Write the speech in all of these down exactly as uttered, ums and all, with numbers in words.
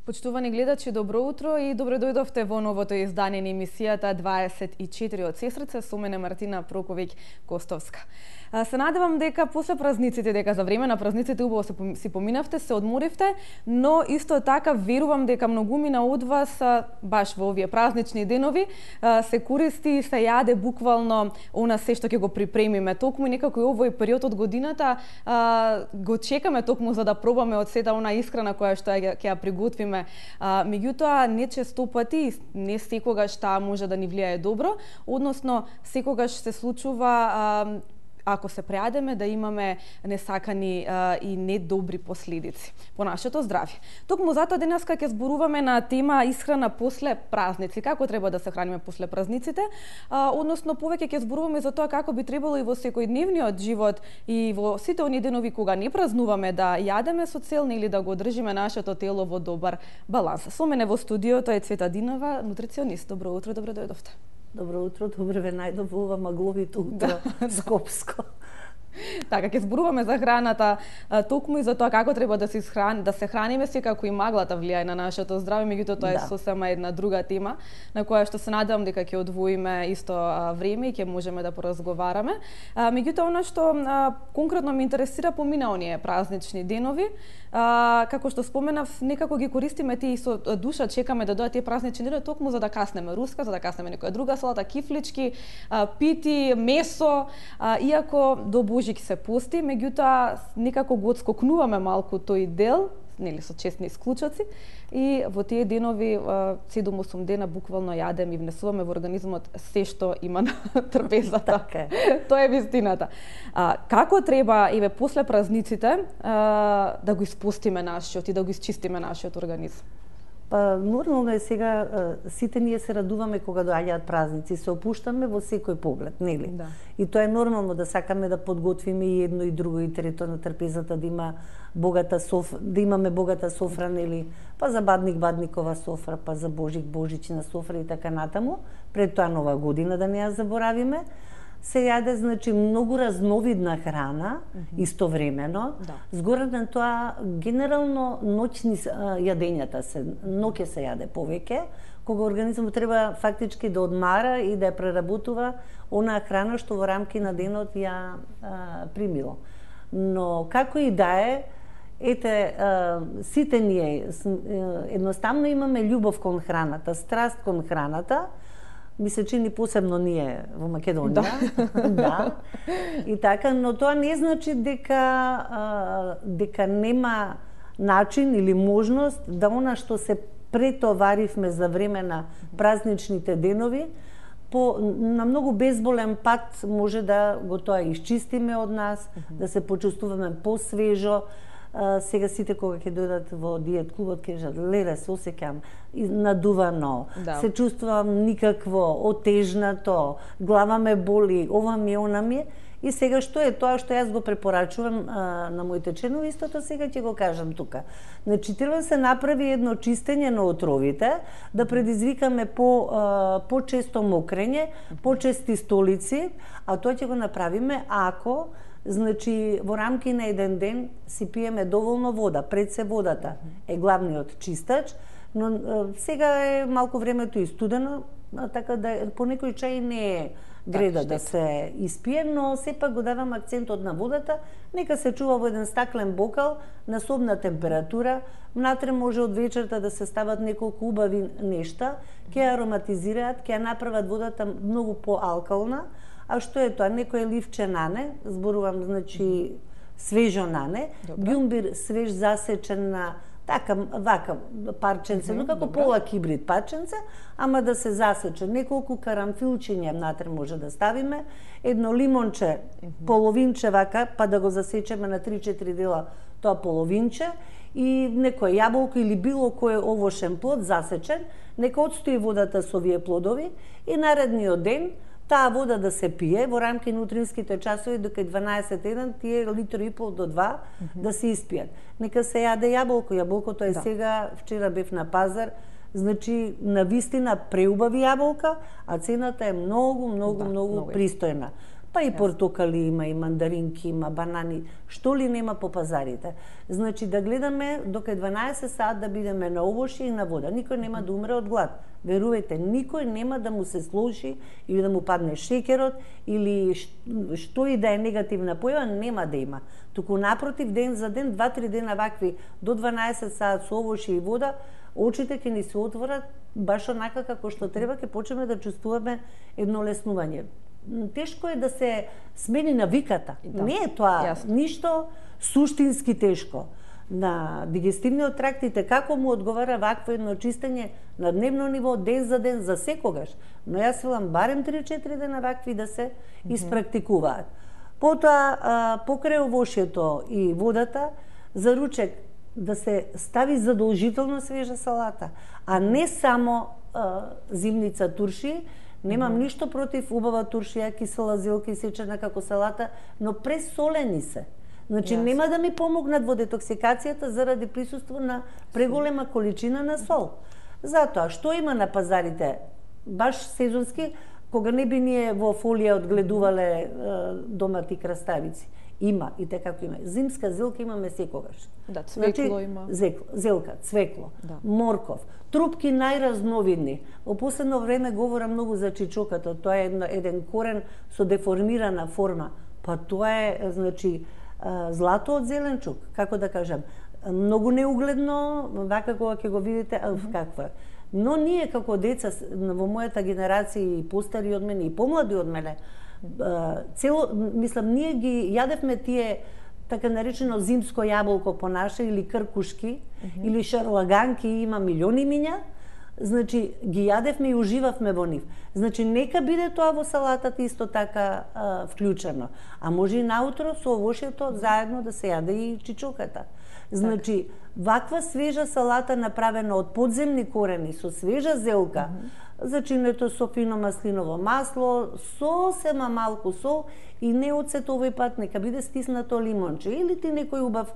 Почитувани гледачи, добро утро и добро дојдовте во новото издание на емисијата дваесет и четири од Сестрица, со мене Мартина Проковиќ Костовска. Се надевам дека после празниците, дека за време на празниците убаво се си поминавте, се одморивте, но исто така верувам дека многумина од вас баш во овие празнични денови се користи и се јаде буквално она се што ќе го припремиме. Токму некако и овој период од годината го чекаме токму за да пробаме од сета она исхрана која што ќе ја приготвиме. Меѓутоа не често пати, не секогаш таа може да ни влијае добро, односно секогаш се случува ако се преадеме да имаме несакани а, и недобри последици по нашето здравје. Токму затоа денеска ќе зборуваме на тема исхрана после празници, како треба да се храниме после празниците, а, односно повеќе ќе зборуваме за тоа како би требало и во секојдневниот живот и во сите оние денови кога не празнуваме да јадеме со цел или да го одржиме нашето тело во добар баланс. Со мене во студиото е Цвета Динова, нутриционист. Добро утро, добро дојдовте. Добро утро, добре ве најдов во ова магловито утро, да, Скопско. Така, ќе зборуваме за храната, токму и за тоа како треба да се храни, да се храниме, секако и маглата влијае на нашето здравје, меѓутоа тоа да. е сосема една друга тема на која што се надевам дека ќе одвоиме исто време и ќе можеме да поразговараме. Меѓутоа она што конкретно ме интересира помина оние празнични денови, А, како што споменав, некако ги користиме тие со душа, чекаме да дојдат тие празнични денови токму за да каснеме руска, за да каснеме некоја друга салата, кифлички, а, пити, месо, а, иако до Божик се пости, меѓутоа некако го отскокнуваме малку тој дел, нели со честни исклучоци, и во тие денови седум-осум дена буквално јадем и внесуваме во организмот се што има на трпезата. Тоа е вистината. А, како треба еве после празниците а, да го испустиме нашиот и да го исчистиме нашиот организм? Па нормално е сега, сите ние се радуваме кога доаѓаат празници, се опуштаме во секој поглед, нели? Да. И тоа е нормално да сакаме да подготвиме и едно и друго и трето на трпезата, да има богата соф, да имаме богата софра, нели? Па за Бадник Бадникова софра, па за Божик Божична софра и така натаму. Пред тоа нова година да не ја заборавиме. Се јаде, значи, многу разновидна храна, mm -hmm. истовремено. Да. Згоре на тоа, генерално, ноќни јадењата се, ноќе се јаде повеќе, кога организмот треба фактички да одмара и да ја преработува онаа храна што во рамки на денот ја а, примило. Но, како и да е, ете, а, сите ние едноставно имаме љубов кон храната, страст кон храната, ми се чини посебно ние во Македонија. Да. Да. И така, но тоа не значи дека а, дека нема начин или можност да она што се претоваривме за време на празничните денови, по на многу безболен пат може да го тоа изчистиме од нас, mm-hmm. да се почувствуваме посвежо. Uh, сега сите кога ќе дојдат во диет клубот ќе кажат леле се осеќам надувано, да. Се чувствувам никакво, отежнато, глава ме боли, ова ми она ми. И сега што е тоа што јас го препорачувам а, на моите членови, истото сега ќе го кажам тука. Значи треба се направи едно чистење на отровите, да предизвикаме по а, по-често мокрење, по-чести столици, а тоа ќе го направиме ако значи, во рамки на еден ден си пиеме доволно вода. Пред се водата е главниот чистач, но сега е малку времето и студено, така да по некој чај не е греда да се испие, но сепак го давам акцентот на водата, нека се чува во еден стаклен бокал на собна температура, внатре може од вечерта да се стават неколку убави нешта, ќе ја ароматизираат, ќе ја направат водата многу поалкална. А што е тоа? Некој ливче нане, зборувам, значи, свежо нане, ѓумбир свеж засечен на така, вака парченце, но како пола кибрид парченце, ама да се засече. Неколку карамфилчиња внатре може да ставиме, едно лимонче, половинче вака, па да го засечеме на три-четири дела тоа половинче, и некој јаболко или било кој овошен плод засечен, нека отстои водата со овие плодови и наредниот ден таа вода да се пие во рамки на утринските часови до кај дванаесет еден, тие литри и пол до два mm -hmm. да се испијат. Нека се јаде јаболко, јаболкото е да. Сега, вчера бев на пазар, значи на вистина преубави јаболка, а цената е многу, многу, да, многу, многу пристојна. Па и портокали има, и мандаринки има, банани, што ли нема по пазарите. Значи да гледаме до кај дванаесет саат да бидеме на овошје и на вода. Никој нема да умре од глад. Верувајте, никој нема да му се слоши или да му падне шеќерот или што и да е негативна појава, нема да има. Туку напротив, ден за ден, два-три дена вакви до дванаесет саат со овошје и вода, очите ќе ни се отворат баш онака како што треба, ќе почнеме да чувствуваме едно леснување. Тешко е да се смени навиката. Да. Не е тоа Јасно. Ништо суштински тешко. На дигестивниот тракт и како му одговара вакво едно чистење на дневно ниво, ден за ден, за секогаш. Но јас велам барем три-четири дена вакви да се mm-hmm. испрактикуваат. Потоа, покрај овошјето и водата, за ручек да се стави задолжително свежа салата, а не само а, зимница турши. Немам mm-hmm. ништо против убава туршија, кисела зелка и сечена како салата, но пресолени се. Значи yes. нема да ми помогнат во детоксикацијата заради присуство на преголема количина на сол. Затоа, што има на пазарите, баш сезонски, кога не би ние во фолија одгледувале е, домати краставици. Има, и така како има. Зимска зелка имаме секогаш. Да, цвекло значи, има. Зекло, зелка, цвекло, да. морков, трупки најразновидни. Во последно време говорам многу за чичоката. Тоа е едно, еден корен со деформирана форма. Па тоа е, значи, злато од зеленчук, како да кажам. Многу неугледно, вака кога ќе го видите, mm -hmm. какво е. Но ние како деца во мојата генерација и постари од мене и помлади од мене, цело, мислам, ние ги јадевме тие така наречено зимско јаболко по наше или кркушки, mm -hmm. или шарлаганки, има милиони миња. Значи, ги јадевме и уживавме во нив. Значи, нека биде тоа во салатата исто така а, вклучено. А може и наутро со овошјето заедно да се јаде и чичоката. Значи, так. ваква свежа салата направена од подземни корени, со свежа зелка, mm -hmm. зачинето со фино маслиново масло, сосема малку сол и не оцет овој пат, нека биде стиснато лимонче или ти некој убав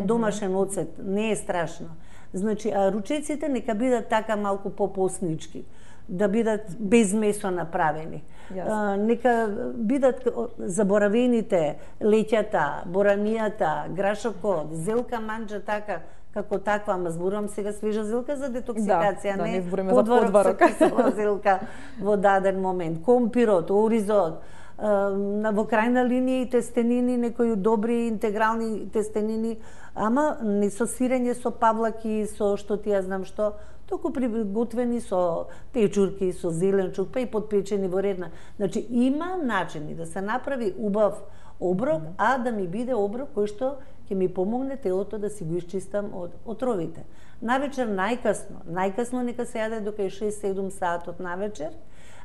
домашен оцет, не е страшно. Значи, а ручеците нека бидат така малку попоснички, да бидат без месо направени. А, нека бидат заборавените леќата, боранијата, грашокот, зелка манџа така, како таква, ама зборувам сега свежа зелка за детоксикација, да, не, да, не подварок, подварок со кисела зелка во даден момент. Компирот, оризот, на во крајна линија и тестенини, некои добри интегрални тестенини, ама не со сирење, со павлаки, со што ти ја знам што, току приготвени со печурки, со зеленчук, па и подпечени во редна. Значи, има начини да се направи убав оброк, mm -hmm. а да ми биде оброк кој што ќе ми помогне телото да си го исчистам од отровите. Навечер најкасно, најкасно нека се јаде до кај шест-седум саатот навечер,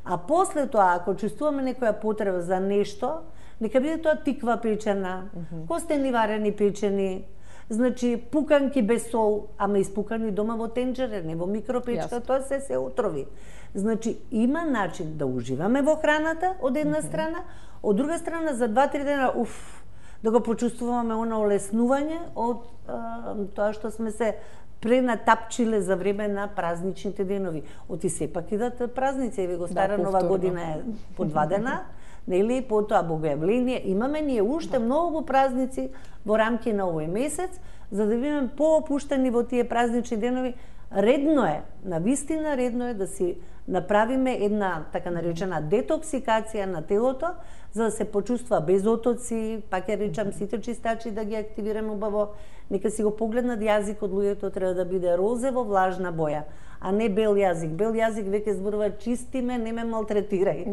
а после тоа, ако чувствуваме некоја потреба за нешто, нека биде тоа тиква печена, mm -hmm. костени варени печени, значи пуканки без сол, ама испукани дома во тенџере, не во микропечка, yes. тоа се се отрови. Значи, има начин да уживаме во храната од една mm -hmm. страна, од друга страна за два-три дена, уф, да го почувствуваме оно олеснување од а, тоа што сме се пренатапчиле за време на празничните денови. Оти сепак идат празници, еве го стара да, нова година е по два дена, нели, потоа богојавление. Имаме ние уште многу празници во рамки на овој месец, за да бидеме поопуштени во тие празнични денови. Редно е, на вистина редно е да си направиме една така наречена детоксикација на телото, за да се почувства без отоци, пак ја речам сите чистачи да ги активираме убаво. Нека си го погледнат јазикот, луѓето треба да биде розево влажна боја, а не бел јазик. Бел јазик веќе зборува чисти ме, не ме малтретирај.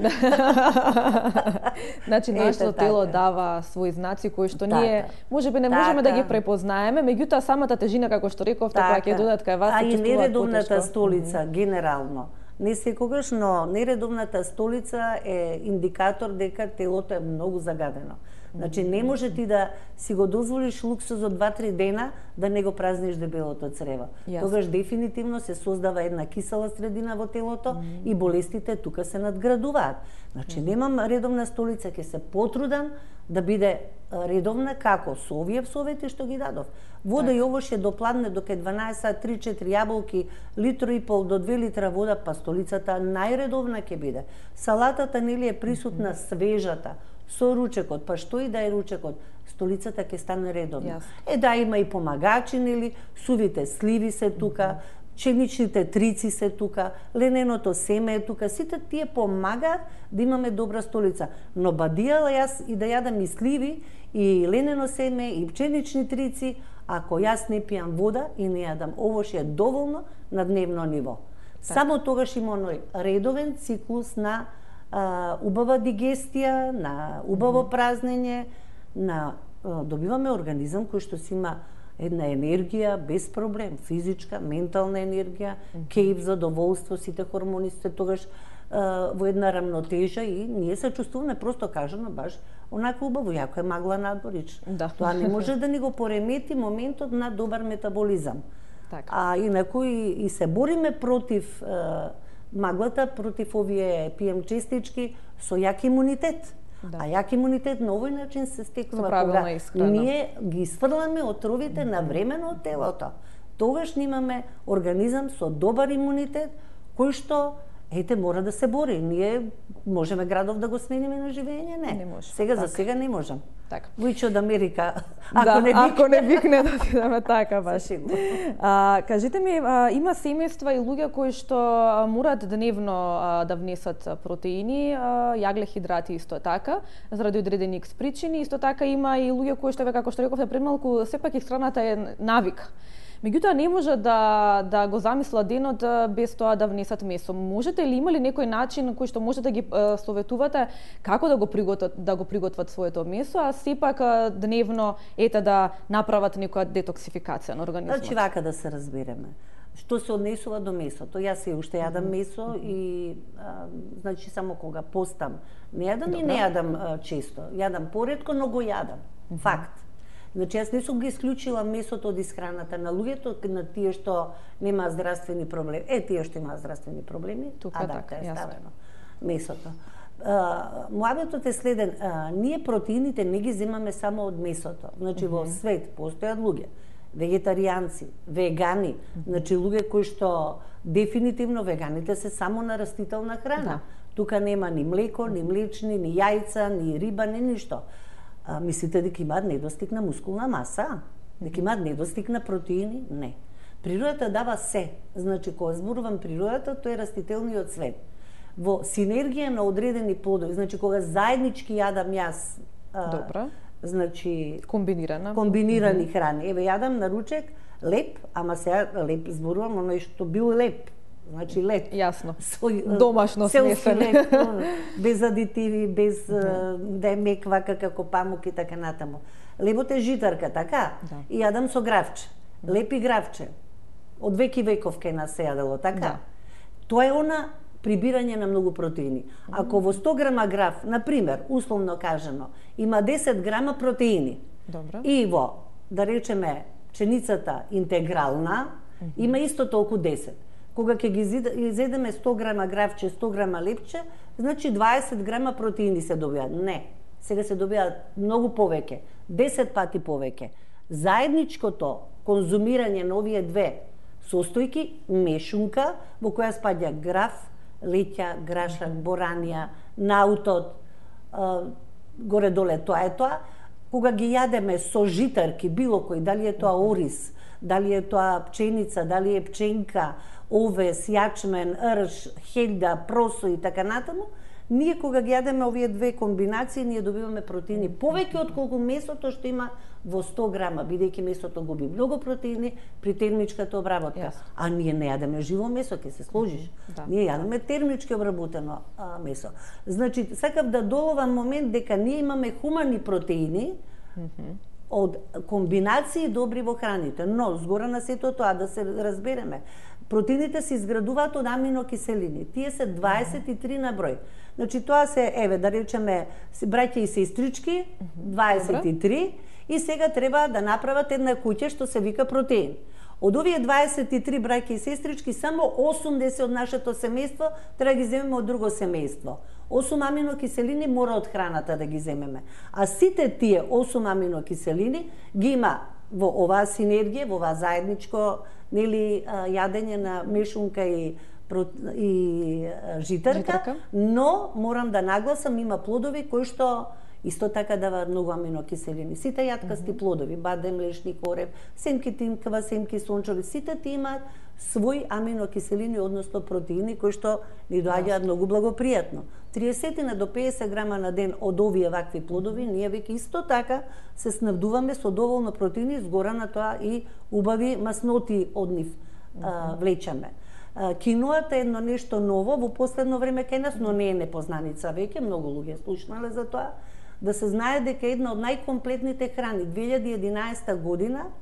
Значи нашето тело дава своји знаци кои што ние можеби не можеме да ги препознаеме, меѓутоа самата тежина како што рековте кога ќе додат кај вас, а и нередовната столица генерално. Не секогаш, но нередовната столица е индикатор дека телото е многу загадено. Значи, не може ти да си го дозволиш луксузот два-три дена да не го празниш дебелото црево. Yes. Тогаш дефинитивно се создава една кисела средина во телото mm -hmm. и болестите тука се надградуваат. Значи, mm -hmm. немам редовна столица, ќе се потрудам да биде редовна како со овие совети што ги дадов. Вода и овошје до пладне до кај дванаесет, три-четири јаболки, литро и пол до две литра вода, па столицата најредовна ќе биде. Салатата нели е присутна свежата, со ручекот, па што и да е ручекот, столицата ќе стане редовна. Јасно. Е, да, има и помагачи, нели, сувите сливи се тука, пшеничните трици се тука, лененото семе е тука, сите тие помагаат да имаме добра столица. Но бадијала јас и да јадам и сливи, и ленено семе, и пшенични трици, ако јас не пијам вода и не јадам овош е доволно на дневно ниво. Так. Само тогаш има оној редовен циклус на а, убава дигестија, на убаво mm-hmm. празнење, на а, добиваме организам кој што си има една енергија без проблем, физичка, ментална енергија, mm-hmm. кејф, задоволство, сите хормони се тогаш а, во една рамнотежа и ние се чувствуваме просто кажано баш онака убаво, јако е магла надворич. Да. Тоа не може да ни го поремети моментот на добар метаболизам. Така. А инаку и, и се бориме против е, маглата, против овие пи ем честички со јак имунитет. Да. А јак имунитет на овој начин се стекнува кога исхрана. Ние ги сврламе отровите mm-hmm. навремено од телото. Тогаш имаме организам со добар имунитет кој што ете мора да се бори. Ние можеме градов да го смениме на живење? Не. Не може. Сега така. За сега не можам. Така. Војче од Америка. Ако да, не викне, ако не викне да отидеме така баш. А, кажете ми, а, има семејства и луѓе кои што морат дневно а, да внесат протеини, а, јагле-хидрати исто така, заради одредени икс причини, исто така има и луѓе кои што како што рековте пред малку, сепак исхраната е навик. Меѓутоа не може да да го замислат денот без тоа да внесат месо. Можете ли има ли некој начин кој што можете да ги е, советувате како да го приготват да го приготват своето месо, а сепак е, дневно ете да направат некоја детоксификација на организмот? Значи вака да се разбереме. Што се однесува до месото? Јас се уште јадам месо mm-hmm. и а, значи само кога постам. Не јадам Добра. И не јадам а, често. Јадам поретко, но го јадам. Mm-hmm. Факт. Значи, јас не сум ги исклучила месото од исхраната на луѓето, на тие што немаат здравствени проблеми. Е, тие што имаат здравствени проблеми, тука така е ставено месото. Муабетот е следен, а, ние протеините не ги земаме само од месото. Значи, mm-hmm. во свет постојат луѓе, вегетаријанци, вегани, mm-hmm. значи луѓе кои што дефинитивно веганите се само на растителна храна. Да. Тука нема ни млеко, ни млечни, ни јајца, ни риба, ни ништо. А, мислите дека имаат недостиг на мускулна маса? Дека имаат недостиг на протеини? Не. Природата дава се. Значи, кога зборувам природата, тоа е растителниот свет. Во синергија на одредени плодови, значи кога заеднички јадам јас, а, Добра. Значи комбинирана комбинирани mm-hmm. храни. Еве јадам на ручек леп, ама сега леп зборувам оној што бил леп. Значи леп. Јасно. Со, домашно смесен. Леп, без адитиви, без mm-hmm. да е мек вака како памук и така натаму. Лебот е житарка, така? Да. И јадам со гравче. Леп и гравче. Од веки веков кај нас се јадело, така? Да. Тоа е она прибирање на многу протеини. Ако во сто грама грав, на пример, условно кажано, има десет грама протеини. Добро. И во, да речеме, пшеницата интегрална, mm-hmm. има исто толку десет. Кога ќе ги изедеме сто грама гравче, сто грама лепче, значи дваесет грама протеини се добиваат. Не, сега се добиваат многу повеќе, десет пати повеќе. Заедничкото конзумирање на овие две состојки, мешунка, во која спаѓа грав, леќа, грашак, боранија, наутот, горе-доле тоа е тоа. Кога ги јадеме со житарки, било кој, дали е тоа ориз, дали е тоа пченица, дали е пченка, овес, јачмен, рж, хелда, просо и така натаму, ние кога ги јадеме овие две комбинации, ние добиваме протеини повеќе од колку месото што има во сто грама, бидејќи месото губи многу протеини при термичката обработка. Yes. А ние не јадеме живо месо, ќе се сложиш. Да. Ние јадеме термички обработено а, месо. Значи, сакав да доловам момент дека ние имаме хумани протеини, mm-hmm. од комбинации добри во храните, но згора на сето тоа да се разбереме. Протеините се изградуваат од аминокиселини. Тие се дваесет и три на број. Значи тоа се, еве, да речеме, браќа и сестрички, дваесет и три, и сега треба да направат една куќа што се вика протеин. Од овие дваесет и три браќа и сестрички, само осумдесет од нашето семејство треба да ги земеме од друго семејство. осум аминокиселини мора од храната да ги земеме. А сите тие осум аминокиселини ги има во оваа синергија, во оваа заедничко, нели, јадење на мешунка и и житарка, житарка, но морам да нагласам, има плодови кои што Исто така даваат многу аминокиселини. Сите јаткасти плодови, бадем, млечни корев, семки тимкава, семки сончови, сите ти имаат своји аминокиселини, односно протеини, кои што ни доаѓаат многу благопријатно. триесет до педесет грама на ден од овие вакви плодови, ние веќе исто така се снабдуваме со доволно протеини, згора на тоа и убави масноти од нив а, влечаме. Киноата е едно нешто ново во последно време кај нас, но не е непознаница веќе, многу луѓе слушнале за тоа. Да се знае дека една од најкомплетните храни две илјади и единаесета година,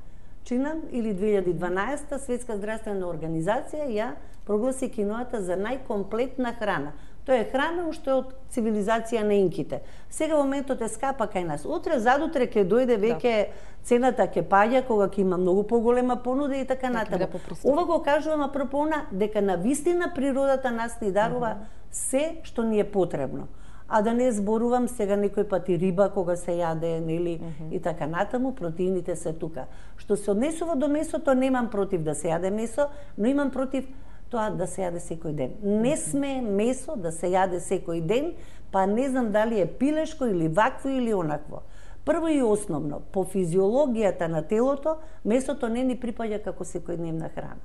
чинам, или две илјади и дванаесета, Светска здравствена организација ја прогласи киноата за најкомплетна храна. Тоа е храна што е од цивилизација на инките. Сега во моментот е скапа кај нас. Утре, задутре ќе дојде веќе да. Цената ќе паѓа кога ќе има многу поголема понуда и така натаму. Ова го кажувам апропона дека на вистина природата нас ни дарува uh -huh. се што ни е потребно. А да не зборувам сега некој пати риба кога се јаде, нели, uh -huh. и така натаму, протеините се тука. Што се однесува до месото, немам против да се јаде месо, но имам против тоа да се јаде секој ден. Не сме месо да се јаде секој ден, па не знам дали е пилешко или вакво или онакво. Прво и основно, по физиологијата на телото, месото не ни припаѓа како секојдневна храна.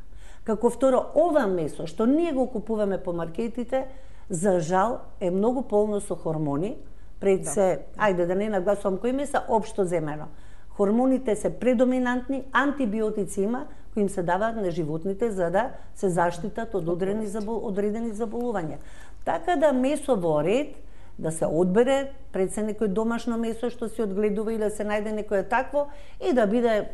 Како второ, ова месо што ние го купуваме по маркетите, за жал е многу полно со хормони, пред се, да. Ајде да не нагласувам кои меса, општо земено. Хормоните се предоминантни, антибиотици има, кои им се даваат на животните за да се заштитат од одредени, забол, одредени заболувања. Така да месо во ред, да се одбере пред се некој домашно месо што се одгледува или да се најде некое такво и да биде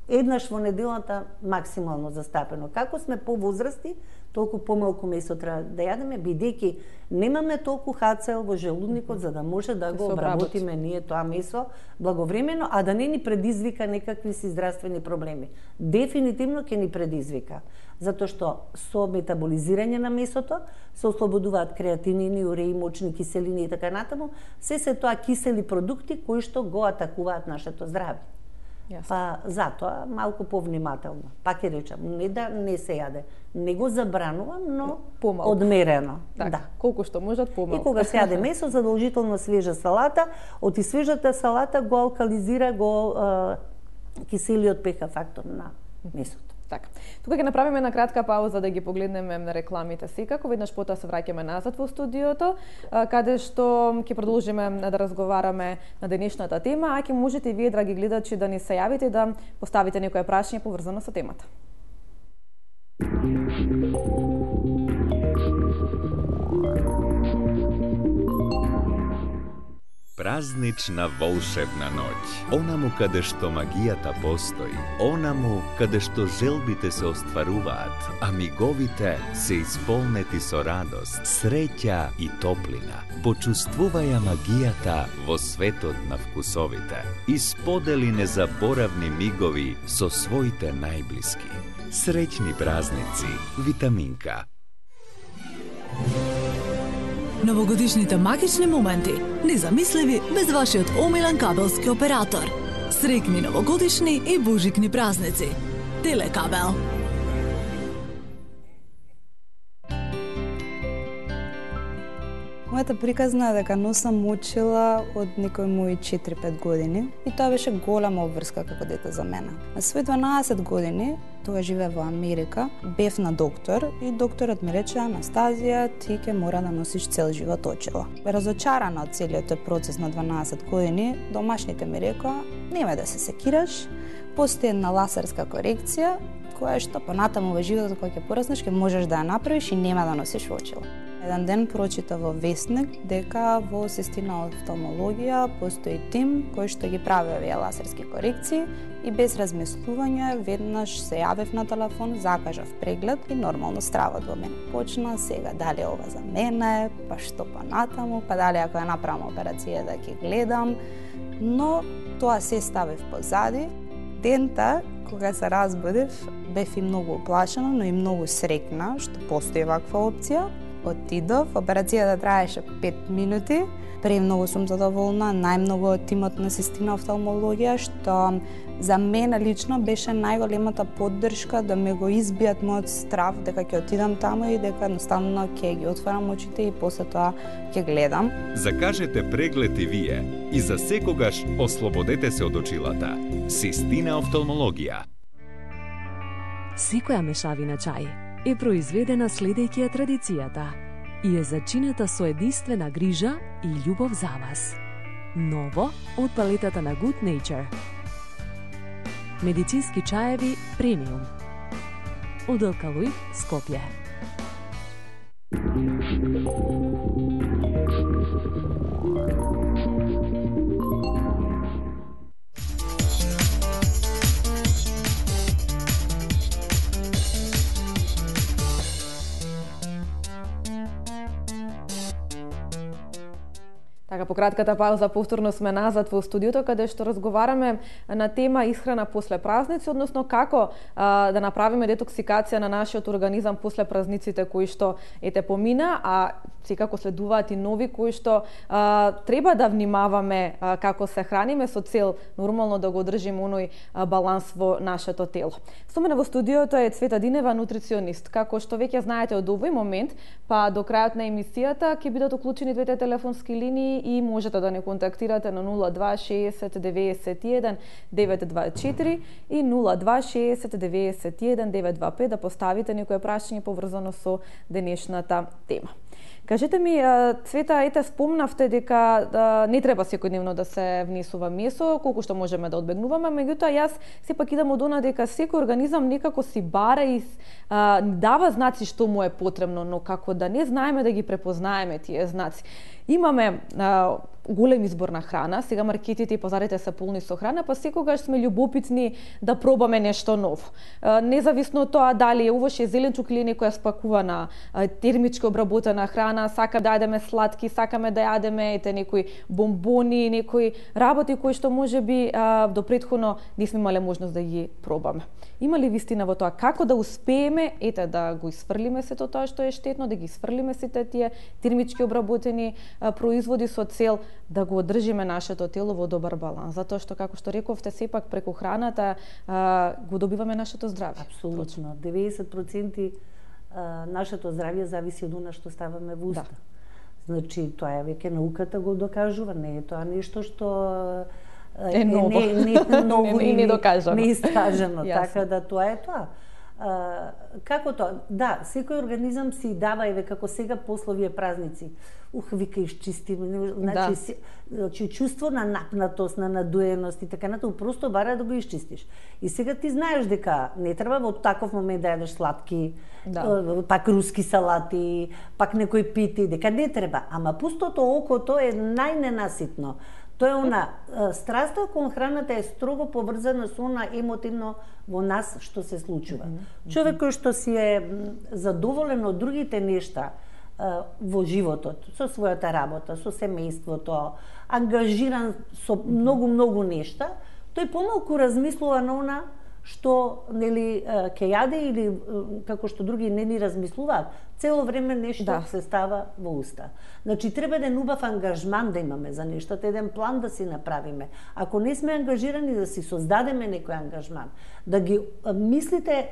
еднаш во неделата максимално застапено. Како сме повозрасти, толку помалку месо треба да јадеме, бидејќи немаме толку хацел во желудникот за да може да го обработиме ние тоа месо благовремено, а да не ни предизвика некакви си здравствени проблеми. Дефинитивно ќе ни предизвика, затоа што со метаболизирање на месото се ослободуваат креатинини, уреи, мочни киселини и така натаму, се се тоа кисели продукти кои што го атакуваат нашето здравје. Yes. Па затоа малку повнимателно. Пак ќе речам, не да не се јаде, не го забранувам, но помалку. Одмерено. Так, да. Колку што можат помалку. И кога се јаде месо, задолжително свежа салата, од и свежата салата го алкализира, го е, киселиот пеха фактор на месото. Така. Тука ќе направиме една кратка пауза да ги погледнеме на рекламите секако. Веднаш потоа се враќаме назад во студиото, каде што ќе продолжиме да разговараме на денешната тема, а ќе можете и вие, драги гледачи, да ни се јавите и да поставите некое прашање поврзано со темата. Празнична волшебна ноќ, онаму каде што магијата постои, онаму каде што желбите се остваруваат, а миговите се исполнети со радост, среќа и топлина. Почувствуваја магијата во светот на вкусовите и сподели незаборавни мигови со своите најблиски. Среќни празници, Витаминка. Новогодишните магични моменти, незамисливи без вашиот омилен кабелски оператор. Среќни новогодишни и божикни празници. Телекабел. Мојата приказна е дека носам учила од некои мои четири-пет години и тоа беше голема обврска како дете за мене. На свој дванаесет години, тога живеев во Америка, бев на доктор и докторот ми рече: Анастазија, ти ќе мора да носиш цел живот очила. Разочарана од целиот тој процес на дванаесет години, домашните ми рекоа: немај да се секираш, постои една ласерска корекција која што понатаму во животот кога ќе пораснеш ќе можеш да ја направиш и нема да носиш очила. Еден ден прочита во весник дека во Систина офталмологија постои тим кој што ги прави овие ласерски корекции и без размислување веднаш се јавев на телефон, закажав преглед и нормално стравот во мене почна. Сега дали ова за мене, па што понатаму, па дали ако ја направам операција да ќе гледам, но тоа се ставив позади. Дента кога се разбудив, бев и многу оплашена, но и многу среќна што постои ваква опција. отидов, операцијата траеше пет минути. Премногу сум задоволна, најмногу од тимот на Систина офталмологија, што за мене лично беше најголемата поддршка да ме го избијат мојот страв дека ќе отидам таму и дека едноставно ќе ги отварам очите и после тоа ќе гледам. Закажете преглед и вие и за секогаш ослободете се од очилата. Систина офталмологија. Секоја мешавина чај е произведена следејќи ја традицијата и е зачинета со единствена грижа и љубов за вас. Ново од палетата на Good Nature. Медицински чаеви премиум. Од Алкалоид, Скопје. Така, по кратката пауза повторно сме назад во студиото, каде што разговараме на тема исхрана после празници, односно како а, да направиме детоксикација на нашиот организам после празниците кои што ете помина, а секако следуваат и нови кои што а, треба да внимаваме а, како се храниме со цел нормално да го одржиме оној а, баланс во нашето тело. Со мене во студиото е Цвета Динева, нутриционист. Како што веќе знаете од овој момент, па до крајот на емисијата ќе бидат уклучени двете телефонски линии и можете да не контактирате на нула два шеесет деветдесет и еден девет два четири и нула два шеесет деветдесет и еден девет два пет да поставите некое прашање поврзано со денешната тема. Кажете ми, Цвета, ете спомнавте дека да, не треба секојдневно да се внесува месо, колку што можеме да одбегнуваме, меѓутоа јас сепак идам од она дека секој организам некако си бара и а, дава знаци што му е потребно, но како да не знаеме да ги препознаеме тие знаци. Имаме а, голем избор на храна, сега маркетите и пазарите се полни со храна, па секогаш сме љубопитни да пробаме нешто ново. А, независно од тоа дали е увоше зеленчук или некоја спакувана а, термички обработена храна, сакаме да јадеме сладки, сакаме да јадеме ете некои бомбони, некои работи кои што можеби а, до претходно не сме имале можност да ги пробаме. Има ли вистина во тоа како да успееме ете да го исфрлиме сето тоа што е штетно, да ги исфрлиме сите тие термички обработени а, производи со цел да го одржиме нашето тело во добар баланс, затоа што како што рековте сепак преку храната а, го добиваме нашето здравје. Апсолутно, деветдесет проценти а, нашето здравје зависи од она што ставаме во уста. Да. Значи тоа е веќе науката го докажува, не е тоа нешто што е ново, не, не, ново не, не, не докажано. Не искажано, така да тоа е тоа. А, како тоа? Да, секој организам си дава, еве како сега после овие празници. Ух, вика исчистим, значи, да. си, значи чувство на напнатост, на надуеност и така натаму, просто бара да го исчистиш. И сега ти знаеш дека не треба во таков момент да јадеш сладки, да. Пак руски салати, пак некој пити, дека не треба. Ама пустото око, тоа е најненаситно. Тоа е она, страста кон храната е строго поврзана со она емотивно во нас што се случува. Mm -hmm. Човек кој што си е задоволен од другите нешта во животот, со својата работа, со семејството, ангажиран со многу-многу нешта, тој помалку размислува на она што нели ќе јаде или како што други не ни размислуваат, цело време нешто да. Се става во уста. Значи треба еден убав ангажман да имаме за нештата, еден план да си направиме. Ако не сме ангажирани да си создадеме некој ангажман, да ги мислите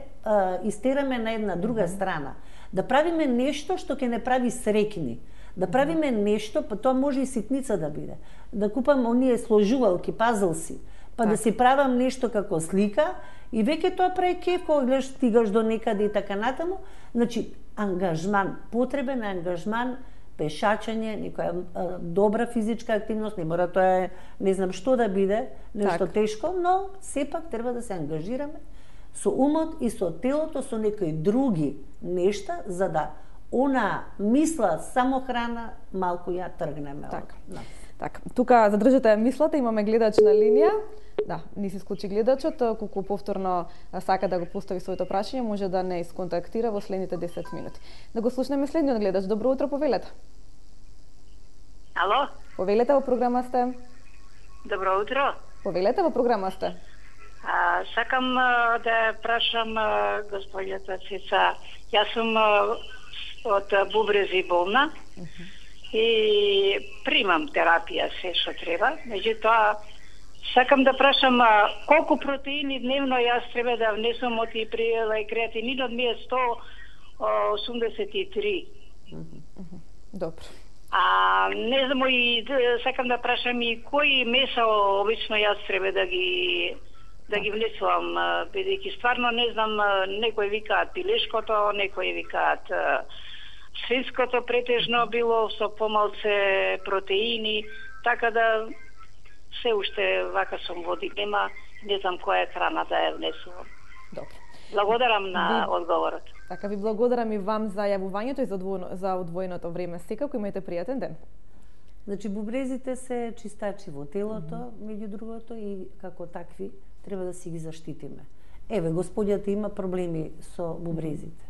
истераме на една друга mm -hmm. страна, да правиме нешто што ќе не прави среќни, да правиме нешто, па тоа може и ситница да биде. Да купам оние сложувалки, пазлси, па так. Да си правам нешто како слика и веќе тоа прави кеф кога гледаш стигаш до некаде и така натаму. Значи, ангажман, потребен ангажман, пешачење, некоја а, добра физичка активност, не мора тоа е не знам што да биде, нешто так. Тешко, но сепак треба да се ангажираме со умот и со телото, со некои други нешта, за да она мисла само храна малку ја тргнеме. Так. Да. Так, тука задржате мислата, имаме гледач на линија. Да, не се исклучи гледачот, колку повторно сака да го постави своето прашање, може да не исконтактира во следните десет минути. Да го слушнеме следниот гледач. Добро утро, повелете. Ало? Повелете, во програма сте. Добро утро. Повелете, во програма сте. А, сакам а, да прашам а, господјата Цеца. Јас сум а, од бубрези болна и примам терапија се што треба. Меѓутоа, сакам да прашам а, колку протеини дневно јас треба да внесам од и приела и креатининот ми е сто осумдесет и три. Добро. А не знам и сакам да прашам и кои меса обично јас треба да ги да ги внесувам, бидејќи стварно не знам, некои викаат пилешкото, некои викаат свинското претежно било со помалце протеини, така да се уште вака сум во дилема, не знам која храна да ја внесувам. Добро. Благодарам на Ви- одговорот. Така ви благодарам и вам за јавувањето и за одвоено, за одвоеното време. Секако имајте пријатен ден. Значи, бубрезите се чистачи во телото, mm -hmm. меѓу другото, и како такви треба да си ги заштитиме. Еве, господјата има проблеми со бубрезите.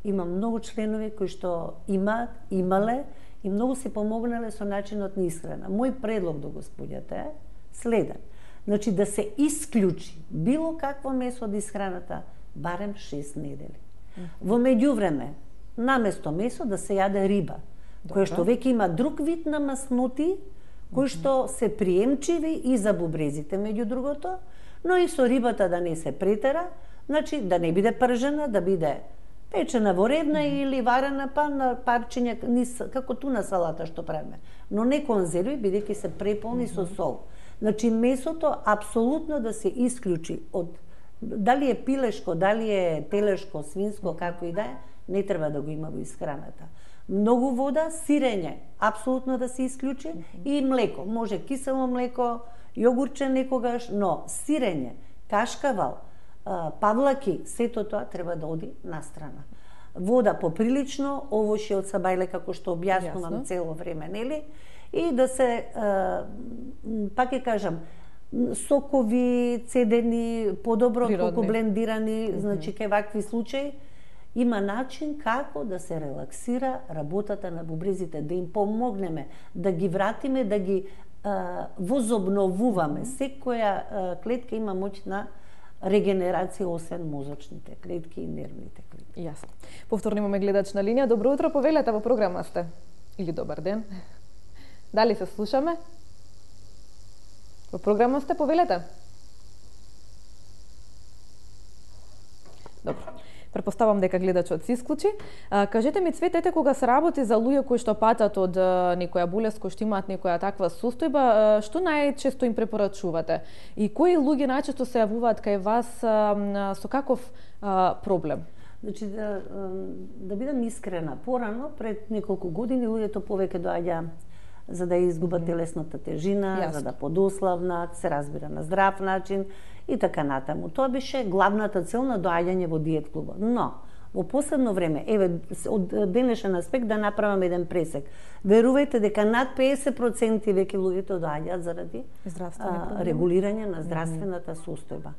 Има многу членови кои што имаат, имале и многу се помогнале со начинот на исхрана. Мој предлог до господјата е следен. Значи, да се исклучи било какво месо од исхраната барем шест недели. Mm -hmm. Во меѓувреме, наместо месо да се јаде риба, која што веќе има друг вид на масноти, кои што се приемчиви и за бубрезите, меѓу другото, но и со рибата да не се претера, значи да не биде пржена, да биде печена во редна mm -hmm. или варена па на парчиња, низ, како туна салата што правиме, но не конзерви, бидејќи се преполни mm -hmm. со сол. Значи месото апсолутно да се исклучи од дали е пилешко, дали е телешко, свинско, како и да е, не треба да го има во исхраната. Многу вода, сирење, апсолутно да се исклучи, mm -hmm. и млеко, може кисело млеко, јогурче некогаш, но сирење, кашкавал, павлаки, сето тоа треба да оди на страна. Вода поприлично, овошје од сабајле, како што објаснувам Јасно. цело време, нели? И да се, пак ќе кажам, сокови, цедени, подобро Природни. колку блендирани, Мгм. значи кај вакви случаи, има начин како да се релаксира работата на бубрезите, да им помогнеме, да ги вратиме, да ги а, возобновуваме. Секоја а, клетка има моќ на регенерација, освен мозочните клетки и нервните клетки. Јасно. Повторно имаме гледач на линија. Добро утро, повелете, во програма сте. Или добар ден. Дали се слушаме? Во програма сте, повелете. Добро. Претпоставам дека гледачот се исклучи. А, кажете ми, Цветете, кога се работи за луѓе кои што патат од а, некоја болест, кои што имаат некоја таква состојба, а, што најчесто им препорачувате? И кои луѓе најчесто се јавуваат кај вас а, а, со каков а, проблем? Значи, да, да бидам искрена, порано, пред неколку години, луѓето повеќе доаѓа за да изгубат телесната тежина, Јасно. за да подославнат, се разбира на здрав начин и така натаму. Тоа беше главната цел на доаѓање во диет клубот. Но, во последно време, еве, од денешен аспект да направам еден пресек. Верувајте дека над педесет проценти веќе луѓето доаѓаат заради Здравствени а, проблеми. регулирање на здравствената состојба.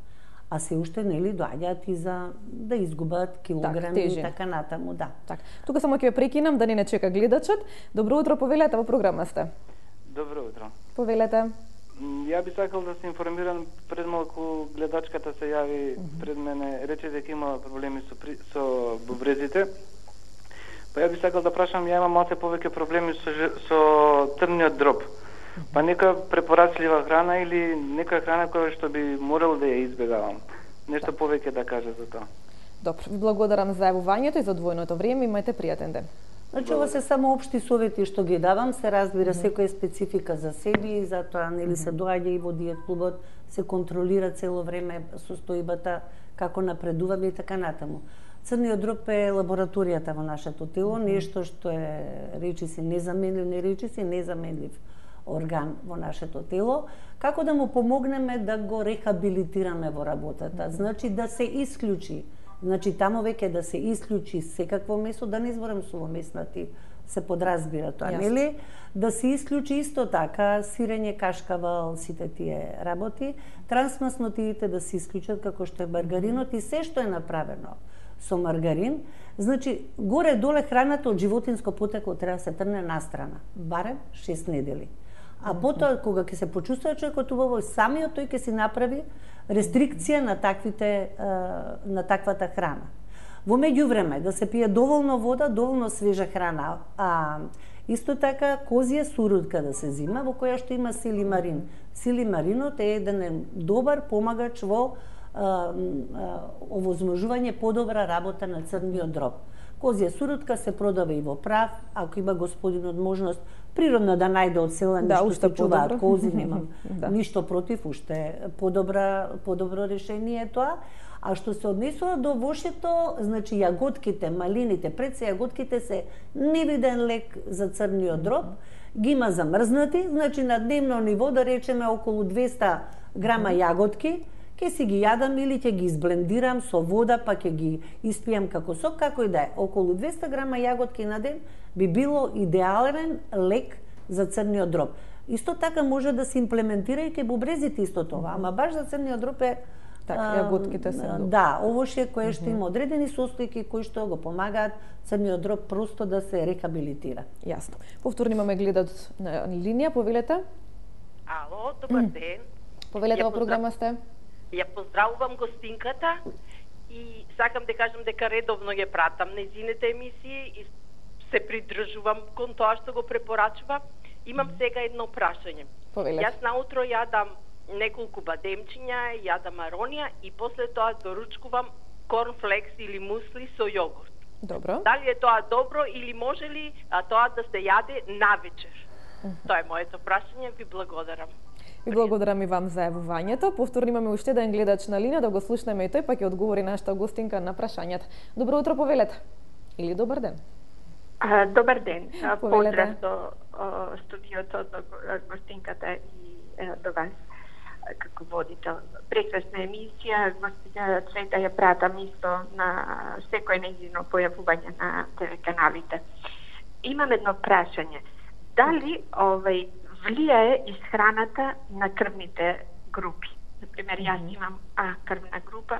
А се уште, нели, доаѓаат и за да изгубат килограми и тежина. така натаму, да. Так, тука само ќе ве прекинам да не не чека гледачот. Добро утро, повелете, во програма сте. Добро утро. Повелете. М, Ја би сакал да се информирам, пред малку гледачката се јави пред мене, рече дека има проблеми со при, со бубрезите. Па ја би сакал да прашам, ја имам малце повеќе проблеми со ж- со трниот дроб. Па нека препорачлива храна или нека храна која што би морал да ја избегавам. Нешто повеќе да каже за тоа. Добро, ви благодарам за јавувањето и за одвоеното време. Имајте пријатен ден. Значи, ова се само општи совети што ги давам, се разбира секоја специфика за себе и затоа нели се доаѓа и во диет клубот, се контролира цело време состојбата, како напредуваме и така натаму. Црниот дроб е лабораторијата во нашето тело, нешто што е речиси незаменлив, не речиси незаменлив орган во нашето тело, како да му помогнеме да го рехабилитираме во работата. Значи да се исклучи, значи таму веќе да се исклучи секакво месо, да не зборам сувомеснати, се подразбира тоа, Јасно. нели? Да се исклучи исто така сирење, кашкавал, сите тие работи, трансмаснотиите да се исклучат како што е маргаринот и се што е направено со маргарин, значи горе-доле храната од животинско потекло треба да се трне настрана, барем шест недели. А потоа, кога ќе се почувствува човекот убаво, самиот тој ќе си направи рестрикција на таквите, на таквата храна. Во меѓувреме да се пие доволно вода, доволно свежа храна. А исто така козија сурутка да се зима во која што има силимарин. Силимаринот е еден добар помагач во а, а, овозможување подобра работа на црниот дроб. Козија сурутка се продава и во прав, ако има господинот можност природно да најде од села да, нешто се чуваат кози, немам да. ништо против, уште подобра подобро решение е тоа. А што се однесува до вошето, значи јаготките, малините, пред се јаготките се невиден лек за црниот дроб, ги има замрзнати, значи на дневно ниво да речеме околу двеста грама јаготки, ќе си ги јадам или ќе ги изблендирам со вода, па ќе ги испијам како сок, како и да е. Околу двеста грама јаготки на ден би било идеален лек за црниот дроб. Исто така може да се имплементира и ке бубрезите исто тоа, ама баш за црниот дроб е така, јаготките се добро. Да, овошје кое што има одредени состојки кои што го помагаат црниот дроб просто да се рехабилитира. Јасно. Повторно имаме гледач на линија, повелете. Ало, добар ден. Повелете во програма сте. Ја поздравувам гостинката и сакам да кажам дека редовно ја пратам нејзините емисии и се придржувам кон тоа што го препорачува. Имам сега едно прашање. Повелете. Јас наутро јадам неколку бадемчиња, јадам аронија и после тоа доручкувам корнфлекс или мусли со јогурт. Добро. Дали е тоа добро или може ли а, тоа да се јаде навечер? Тоа е моето прашање, ви благодарам. Ви благодарам и вам за јавувањето. Повторно имаме уште еден гледач на линија, да го слушнеме и тој, па ќе одговори нашата гостинка на прашањата. Добро утро, повелете. Или добар ден. А, добар ден. Повелете. Поздрав до о, студиото, до гостинката и е, до вас како водител. Прекрасна емисија, гостиња Цвета ја пратам исто на секој нејзино појавување на телеканалите. Имам едно прашање. Дали овај влијае исхраната на крвните групи? Например, јас имам А крвна група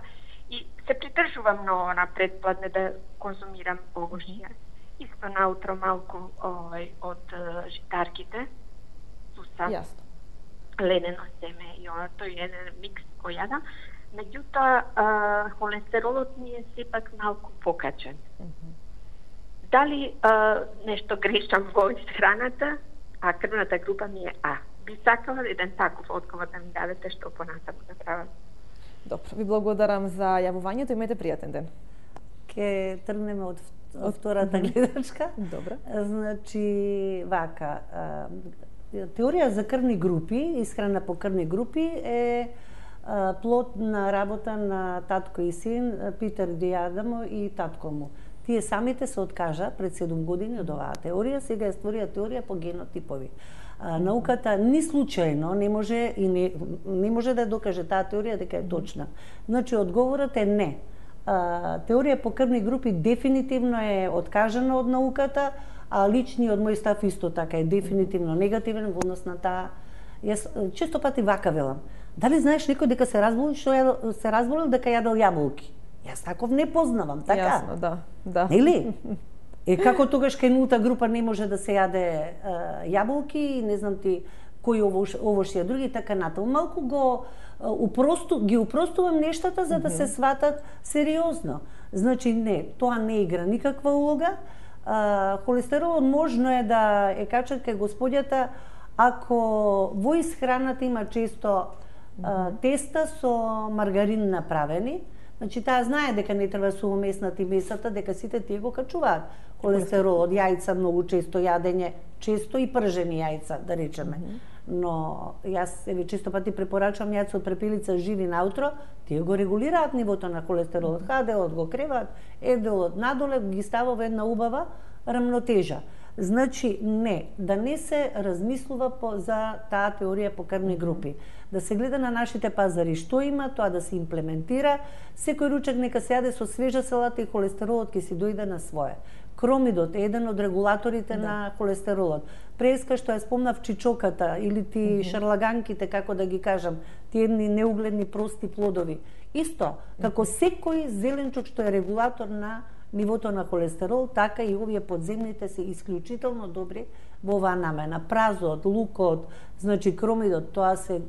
и се придржувам многу на предпладне да конзумирам овошје. Исто наутро малку овај од житарките, суса, Јасно. ленено семе и она, тој е еден микс кој јадам. Меѓутоа, холестеролот ми е сепак малку покачен. Дали а, нешто грешам во исхраната, а крвната група ми е А? Би сакала еден таков одговор да ми дадете што понатаму да правам. Добро, ви благодарам за јавувањето, имате пријатен ден. Ке тргнеме од од втората гледачка. Добро. Значи, вака, теорија за крвни групи, исхрана по крвни групи е плод на работа на татко и син Питер Диадамо и татко му. Тие самите се откажа пред седум години од оваа теорија, сега е створија теорија по генотипови. А, науката ни случајно не може и не, не може да докаже таа теорија дека е точна. Значи, одговорот е не. А, теорија по крвни групи дефинитивно е откажана од науката, а личниот мој став исто така е дефинитивно негативен во однос на таа. Јас често пати вака велам. Дали знаеш некој дека се разболил што ја, се разболил дека јадел јаболки? Јас таков не познавам, така? Јасно, да, да. Нели? Е како тогаш кај нулта група не може да се јаде а, јаболки, не знам ти кои овош, овошје други, така натаму. Малку го а, упросту, ги упростувам нештата за да се сватат сериозно. Значи не, тоа не игра никаква улога. А, холестеролот можно е да е качат кај господјата ако во исхраната има често а, теста со маргарин направени. Значи таа знае дека не треба сувомеснати месата, дека сите тие го качуваат холестеролот, јајца многу често јадење, често и пржени јајца, да речеме. Mm -hmm. Но јас еве често пати препорачувам јајца од препелица живи наутро, тие го регулираат нивото на холестеролот, хаделот го креваат, еделот надоле ги става во една убава рамнотежа. Значи не, да не се размислува по, за таа теорија по крвни групи. Да се гледа на нашите пазари што има, тоа да се имплементира. Секој ручек нека се јаде со свежа салата и холестеролот ќе си дојде на свое. Кромидот е еден од регулаторите да. на холестеролот. Преска што ја спомнав чичоката или ти mm -hmm. шарлаганките, како да ги кажам, тие едни неугледни прости плодови. Исто, како секој зеленчук што е регулатор на нивото на холестерол, така и овие подземните се исклучително добри во оваа намена. Празот, лукот, значи кромидот, тоа се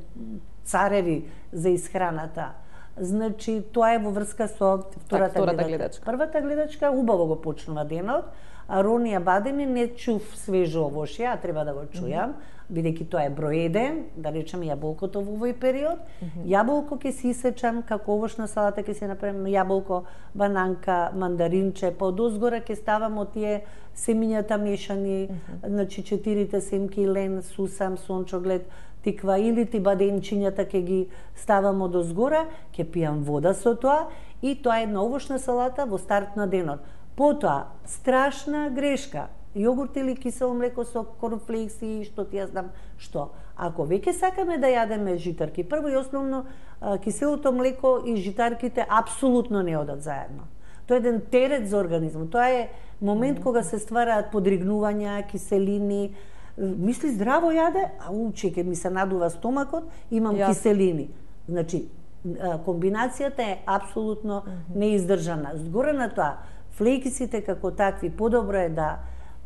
цареви за исхраната. Значи, тоа е во врска со втората, так, втората гледачка. гледачка. Првата гледачка убаво го почнува денот, а Ронија Бадеми не чув свежо овошје, а треба да го чујам, бидејќи тоа е број еден, да речеме јаболкото во овој период. Mm -hmm. Јаболко ќе си исечам како овошна салата, ќе се направим јаболко, бананка, мандаринче, па од озгора ќе ставам од тие семињата мешани, mm -hmm. значи четирите семки, лен, сусам, сончоглед, тиква или ти бадемчињата ќе ги ставам од озгора, ќе пијам вода со тоа и тоа е една овошна салата во старт на денот. Потоа, страшна грешка, јогурт или кисело млеко со корнфлекси, што ти ја знам што. Ако веќе сакаме да јадеме житарки, прво и основно киселото млеко и житарките апсолутно не одат заедно. Тоа е еден терет за организмот. Тоа е момент кога се ствараат подригнувања, киселини. Мисли здраво јаде, а учеке ми се надува стомакот, имам yes. киселини. Значи, комбинацијата е апсолутно неиздржана. Згоре на тоа, флекисите како такви подобро е да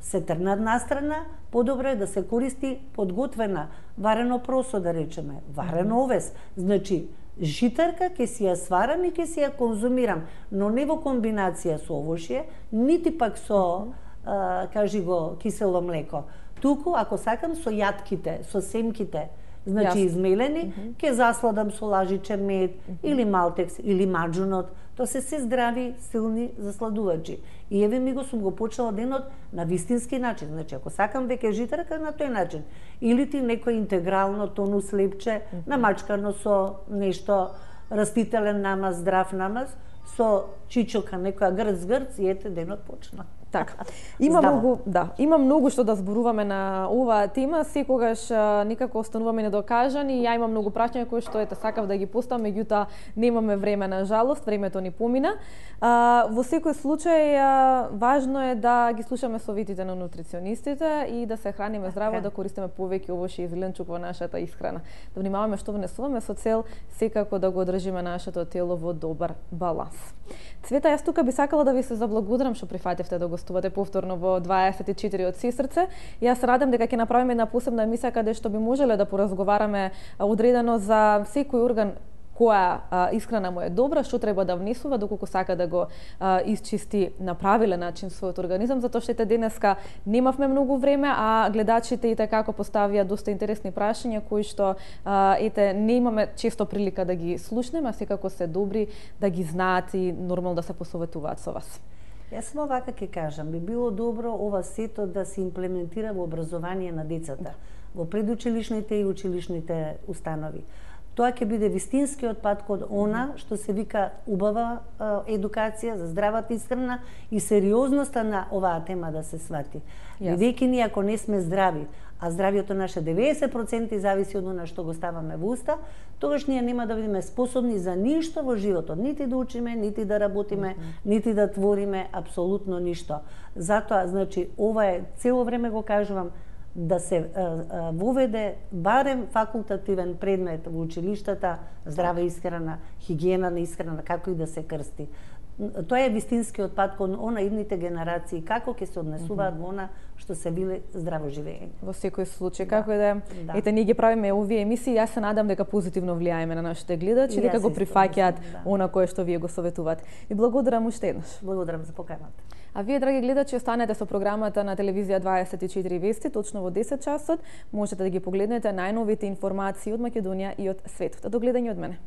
се трнат настрана, подобро е да се користи подготвена варено просо, да речеме, варен овес. Значи, житарка ќе си ја сварам и ќе си ја конзумирам, но не во комбинација со овошје, нити пак со, а, кажи го, кисело млеко. Туку, ако сакам, со јатките, со семките, значи Јас. измелени, mm -hmm. ќе засладам со лажиче мед, mm -hmm. или малтекс, или маџунот. Тоа се се здрави, силни засладувачи. И еве ми го сум го почнала денот на вистински начин. Значи, ако сакам веќе житарка, на тој начин. Или ти некој интегрално тонус лепче, mm -hmm. намачкано со нешто растителен намаз, здрав намаз, со чичока, некоја грц-грц и ете денот почна. Така. Има Здава. многу, да, има многу што да зборуваме на оваа тема, секогаш а, некако остануваме недокажани. Ја имам многу прашања кои што ете сакав да ги поставам, меѓутоа немаме време, на жалост, времето ни помина. А, во секој случај а, важно е да ги слушаме советите на нутриционистите и да се храниме здраво, okay. да користиме повеќе овошје и зеленчук во нашата исхрана. Да внимаваме што внесуваме со цел секако да го одржиме нашето тело во добар баланс. Цвета, јас тука би сакала да ви се заблагодарам што прифативте да гостувате повторно во дваесет и четири од Сестрце. Јас се радам дека ќе направиме една посебна емисија каде што би можеле да поразговараме одредено за секој орган која а, исхрана му е добра, што треба да внесува доколку сака да го а, исчисти на правилен начин својот организам, затоа што ете денеска немавме многу време, а гледачите и како поставија доста интересни прашања кои што а, ете не имаме често прилика да ги слушнеме, а секако се добри да ги знаат и нормално да се посоветуваат со вас. Јас само вака ќе кажам, би било добро ова сето да се имплементира во образование на децата, да. во предучилишните и училишните установи. Тоа ќе биде вистинскиот пат код она што се вика убава едукација за здравата исхрана и сериозноста на оваа тема да се свати. Бидејќи ние ако не сме здрави, а здравието наше деветдесет проценти зависи од она што го ставаме во уста, тогаш ние нема да бидеме способни за ништо во животот, нити да учиме, нити да работиме, mm -hmm. нити да твориме апсолутно ништо. Затоа, значи, ова е цело време го кажувам, да се а, а, воведе барем факултативен предмет во училиштата, здрава исхрана, хигиена на исхрана, како и да се крсти. Тоа е вистинскиот пат кон она идните генерации, како ќе се однесуваат во она што се биле здраво живење. Во секој случај, како и да, да. Ете, ние ги правиме овие емисии, јас се надам дека позитивно влијаеме на нашите гледачи и дека го прифаќаат да. она кое што вие го советувате. И благодарам уште еднаш. Благодарам за поканата. А вие, драги гледачи, останете со програмата на телевизија дваесет и четири Вести, точно во десет часот. Можете да ги погледнете најновите информации од Македонија и од светот. До гледање од мене.